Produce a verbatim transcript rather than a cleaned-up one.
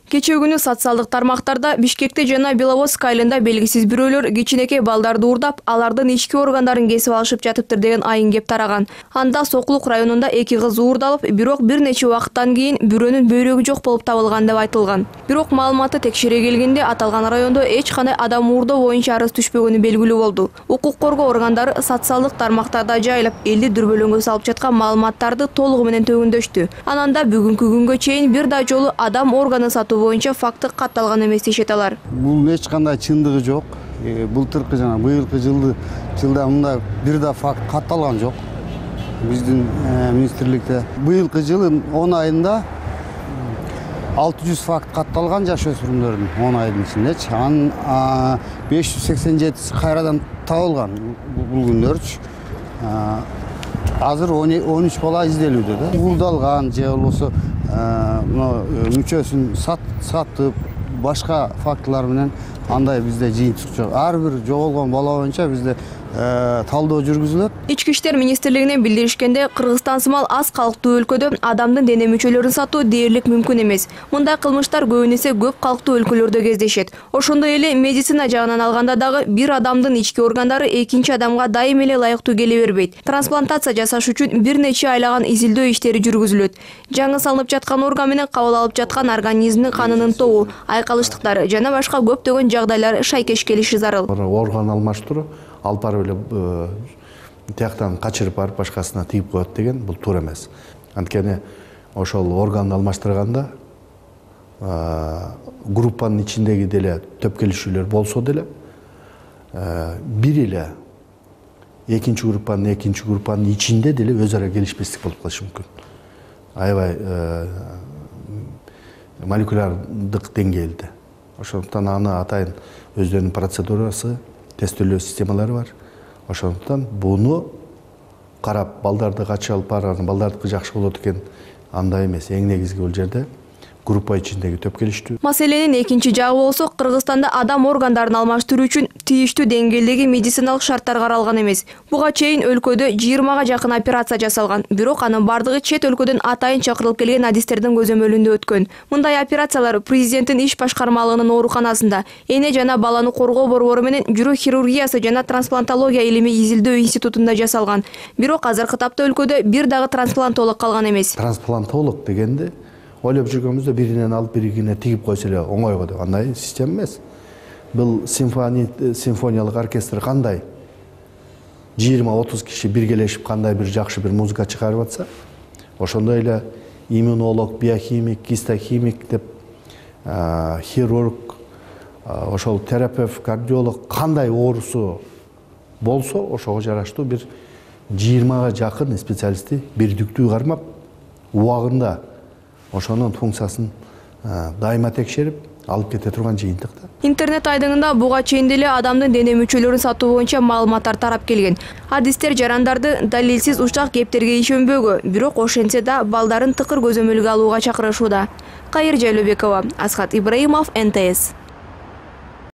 Кечээ күнү социалдык тармактарда Бишкекте жана Беловодск айылында белгисиз бирөөлөр кичинекей балдарды уурдап, алардын ички органдарын кесип алышып жатыптыр деген айын кеп тараган. Анда Сокулук районунда эки кыз уурдалып, бирок бир нече убакыттан кийин бирөөнүн бөйрөгү жок болуп табылган деп айтылган. Бирок маалыматты текшере келгенде аталган райондо эч кандай адам уурдоо боюнча арыз түшпөгөнү белгилүү болду. Укук коргоо органдары социалдык тармактарда жайылып, элди дүрбөлөңгө салып жаткан маалыматтарды толугу менен төгүндөштү. Анан да бүгүнкү күнгө чейин бир да жолу адам органын сатуу боюнча факты катталган эмес дешет алар. Бул эч кандай чындыгы жок. Былтыркы жана быйылкы жылды жылда мындай бир да факт катталган жок. Биздин министрликте быйылкы жылдын он айында алты жүз факт катталган жаш өспүрүмдөрдүн он айдын ичиндечи. Анын беш жүз сексен жетиси кайрадан табылган бул күндөрчү. Азыр он үч бала изделүүдө да. Уурдалган же болбосо мүчөсүн сатып, башка фактылар менен андай бизде жыйынтык жок. Ар бир жоголгон бала боюнча бизде талдоо жүргүзүлөт. Ички иштер министрлигинен билдиришкенде, Кыргызстан сымал аз калктуу өлкөдө адамдын дене мүчөлөрүн сатуу дээрлик мүмкүн эмес. Мындай кылмыштар көбүнесе көп калктуу өлкөлөрдө кездешет. Ошондой эле медицина жагынан алганда дагы бир адамдын ички органдары экинчи адамга дайым эле ылайыктуу келе бербейт. Трансплантация жасаш үчүн бир нече айлаган изилдөө иштери жүргүзүлөт. Жаңы салынып жаткан орган менен кабыл алып жаткан организмдин канынын тобу, айкалыштыктары жана башка көптөгөн жагдайлар шайкеш келиши зарыл. Орган алмаштыруу алып барып эле тияктан качырып барып башкасына тийип коет деген бул туура эмес. Анткени ошол органды алмаштырганда группанын ичиндеги деле төп келишүүлөр болсо деле бир эле экинчи группанын экинчи группанын ичинде деле өз ара келишпестик болуп калышы мүмкүн. Аябай молекулярдык деңгээлде. Ошондуктан аны атайын өздөрүнүн процедурасы, тестөлөө системалары бар. Ошондуктан буну карап балдарды качып алып барган, балдардыкы жакшы болот экен, андай эмес. Эң негизги бул жерде группа ичиндеги төп келиштүү. Маселенин экинчи жагы болсо, Кыргызстанда адам органдарын алмаштыруу үчүн тийиштүү деңгээлдеги медициналык шарттар каралган эмес. Буга чейин өлкөдө жыйырмага жакын операция жасалган, бирок анын бардыгы чет өлкөдөн атайын чакырылып келген адистердин көзөмөлүндө өткөн. Мындай операциялар президенттин иш башкармалыгынын ооруканасында эне жана баланы коргоо борбору менен жүрөк хирургиясы жана трансплантология илими изилдөө институтунда жасалган. Бирок азыркы тапта өлкөдө бир дагы трансплантолог калган эмес. Трансплантолог дегенде ойлоп жүргөнүбүздө биринен алып биригине тигип койсо эле оңойго деп, андай система эмес. Бул симфониялык оркестр кандай жыйырма отуз киши биргелешип кандай бир жакшы бир музыка чыгарып атса, ошондой эле иммунолог, биохимик, гистохимик деп хирург, ошол терапевт, кардиолог кандай оорусу болсо, ошого жараштуу бир жыйырмага жакын специалистти бирдиктүү кармап, убагында ошонун функциясын дайыма текшерип алып кете турган жыйынтык да. Интернет айдыңында буга чейин деле адамдын дене мүчөлөрүн сатуу боюнча маалыматтар тарап келген. Адистер жарандарды далилсиз учак кептерге ишенбөөгө, бирок ошентсе да балдарын тыкыр көзөмөлгө алууга чакырышууда. Кайыр Жайлообекова, Асхат Ибраимов, эн тэ эс.